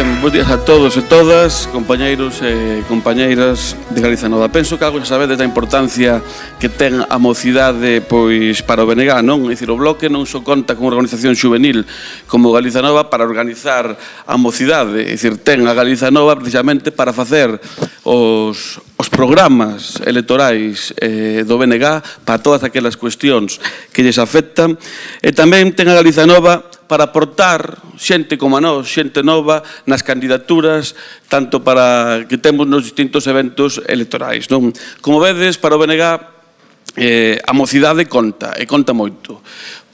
Ben, bons días a todos e todas, compañeiros e compañeiras de Galiza Nova. Penso que algo xa sabedes da importancia que ten a mocidade pois para o BNG, non? É dicir, o Bloque non só conta con unha organización xuvenil como Galiza Nova para organizar a mocidade, é dicir, ten a Galiza Nova precisamente para facer os programas electorais do BNG para todas aquelas cuestións que lles afectan, e tamén ten a Galiza Nova para aportar xente como a nós, xente nova, nas candidaturas, tanto para que temos nos distintos eventos electorais, non? Como vedes, para o BNG, a mocidade conta, e conta moito.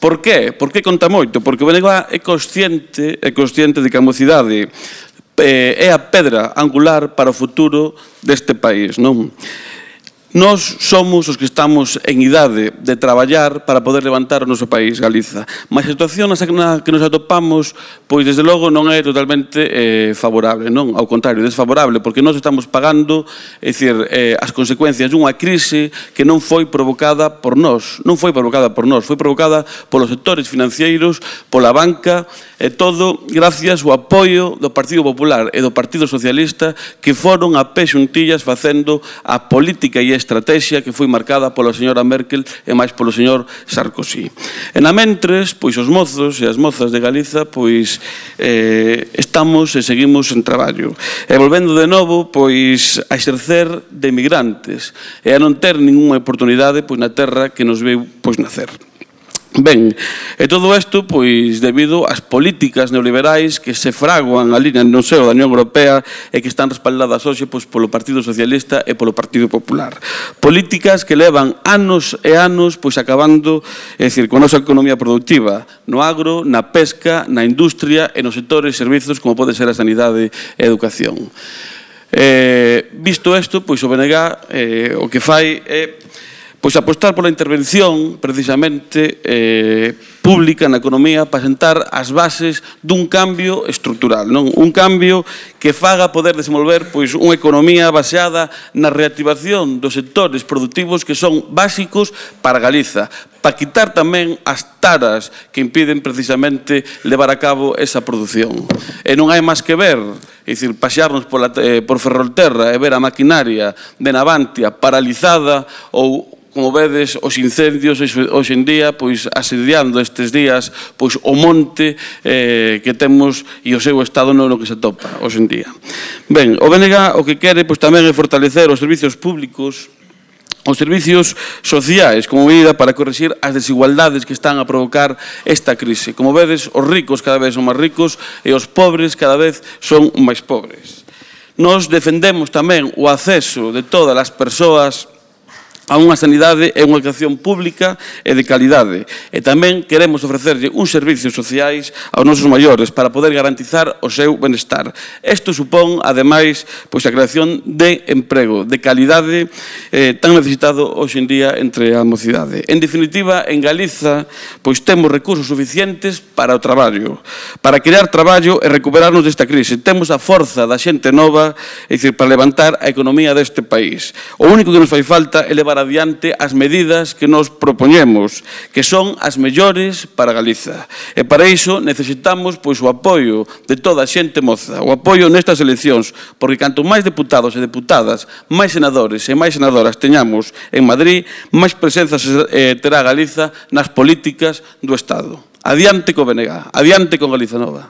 Por qué? Por que conta moito? Porque o BNG é consciente de que a mocidade é a pedra angular para o futuro deste país, non? Nós somos os que estamos en idade de traballar para poder levantar o noso país, Galiza. Mas a situación na que nos atopamos, pois, desde logo, non é totalmente favorable, non? Ao contrario, desfavorable, porque nós estamos pagando, é dicir, as consecuencias dunha crise que non foi provocada por nós. Non foi provocada por nós, foi provocada polos sectores financeiros, pola banca, e todo gracias ao apoio do Partido Popular e do Partido Socialista, que foron a pé xuntillas facendo a política e estrategia que foi marcada pola señora Merkel e máis polo señor Sarkozy. E na mentres, pois os mozos e as mozas de Galiza, pois estamos e seguimos en traballo. E volvendo de novo, pois a exercer de migrantes e a non ter ninguna oportunidade pois na terra que nos veu pois nacer. Ben, e todo isto, pois, debido ás políticas neoliberais que se fraguan ali no seo da Unión Europea e que están respaldadas hoxe pois, polo Partido Socialista e polo Partido Popular. Políticas que levan anos e anos pois, acabando, é dicir, con a nosa economía productiva, no agro, na pesca, na industria e nos sectores e servizos como pode ser a sanidade e a educación. Visto isto, pois, o BNG o que fai é pois apostar pola intervención, precisamente, pública na economía para sentar as bases dun cambio estrutural, non? Un cambio que faga poder desenvolver pois unha economía baseada na reactivación dos sectores productivos que son básicos para Galiza, para quitar tamén as taras que impiden precisamente levar a cabo esa produción. E non hai máis que ver, é dicir, pasearnos por Ferrolterra e ver a maquinaria de Navantia paralizada ou como vedes, os incendios hoxe en día, pois asediando estes días, pois o monte que temos e o seu estado no que se atopa hoxe en día. Ben, o BNG o que quere pois tamén é fortalecer os servizos públicos, os servizos sociais como medida para corrixir as desigualdades que están a provocar esta crise. Como vedes, os ricos cada vez son máis ricos e os pobres cada vez son máis pobres. Nós defendemos tamén o acceso de todas as persoas a unha sanidade e unha educación pública e de calidade. E tamén queremos ofrecerlle uns servizos sociais aos nosos maiores para poder garantizar o seu benestar. Isto supón, ademais, pois a creación de emprego, de calidade tan necesitado hoxe en día entre a mocidade. En definitiva, en Galiza, pois temos recursos suficientes para o traballo, para crear traballo e recuperarnos desta crise. Temos a forza da xente nova, é dicir, para levantar a economía deste país. O único que nos fai falta é levar adiante as medidas que nos propoñemos, que son as mellores para Galiza. E para iso necesitamos pois, o apoio de toda a xente moza, o apoio nestas eleccións, porque canto máis deputados e deputadas, máis senadores e máis senadoras teñamos en Madrid, máis presenza terá Galiza nas políticas do Estado. Adiante co BNG, adiante con Galiza Nova.